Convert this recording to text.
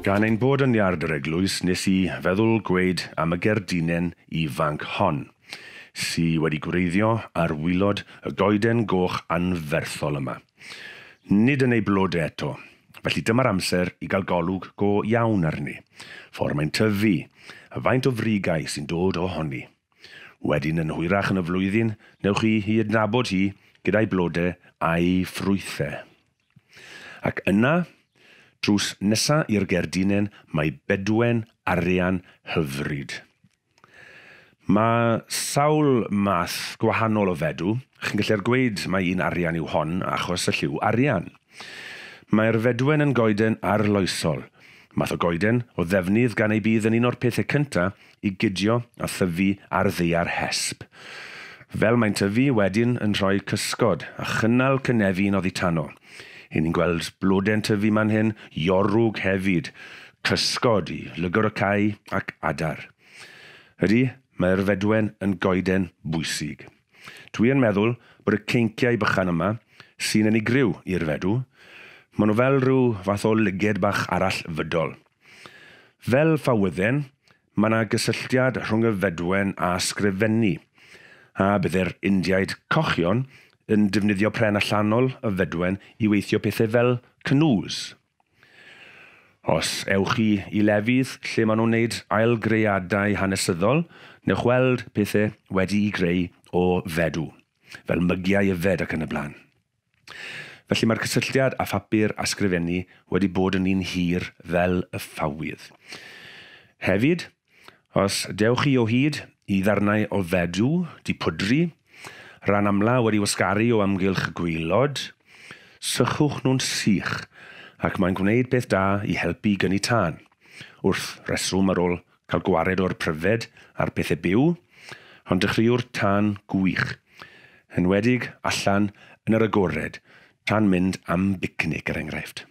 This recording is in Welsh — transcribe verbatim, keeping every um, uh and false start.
Gan ein bod yn iard yr eglwys, nes i feddwl gweud am y gerdinen ifanc hon, sy wedi gwreiddio ar waelod y goeden goch anferthol yma. Nid yn ei blodau eto, felly dyma'r amser i gael golwg go iawn arni. Ffordd mae'n tyfu, a faint o frigau sy'n dod ohoni. Wedyn yn hwyrach yn y flwyddyn, newch chi hi adnabod hi gyda'i blodau a'i ffrwythau. Ac yna, drws nesa i'r gerdinen, mae bedwen arian hyfryd. Mae sawl math gwahanol o fedw. Chi'n gallu'r gweud mai un arian yw hon achos y lliw arian. Mae'r fedwen yn goeden arloesol. Math o goeden o ddefnydd gan ei bydd yn un o'r pethau cyntaf i gydio a thyfu ar ddaear hesb. Fel mae'n tyfu wedyn yn rhoi cysgod a chynnal cynefin oddi tano. Hyn ni'n gweld blodau'n tyfu man hyn, iorwg hefyd, cysgod i lygwr y cae ac adar. Ydy, mae'r fedwen yn goeden bwysig. Dwi yn meddwl bod y ceinciau bychan yma sy'n unigryw i'r fedw, maen nhw fel rhyw fath o lyged bach arall fydol. Fel ffawydden, mae yna gysylltiad rhwng y fedwen a sgrifennu, a bydde'r Indiaid cochion yn defnyddio pren allanol y fedwen i weithio pethau fel canoes. Os ewch chi i lefydd lle maen nhw'n wneud ailgreadau hanesyddol, newch weld pethau wedi'i greu o fedw, fel mygiau yfed ac yn y blaen. Felly mae'r cysylltiad â phapur a sgrifennu wedi bod yn un hir fel y ffawydd. Hefyd, os dewch chi o hyd i ddarnau o fedw, di pwdru, rhan amla wedi wasgaru o amgylch y gwaelod, sychwch nhw'n sych, ac mae'n gwneud peth da i helpu gynnu tân. Wrth reswm ar ôl cael gwared o'r pryfed a'r pethau byw, ond dechreuwr tân gwych, enwedig allan yn yr agored, tra'n mynd am bicnic er enghraifft.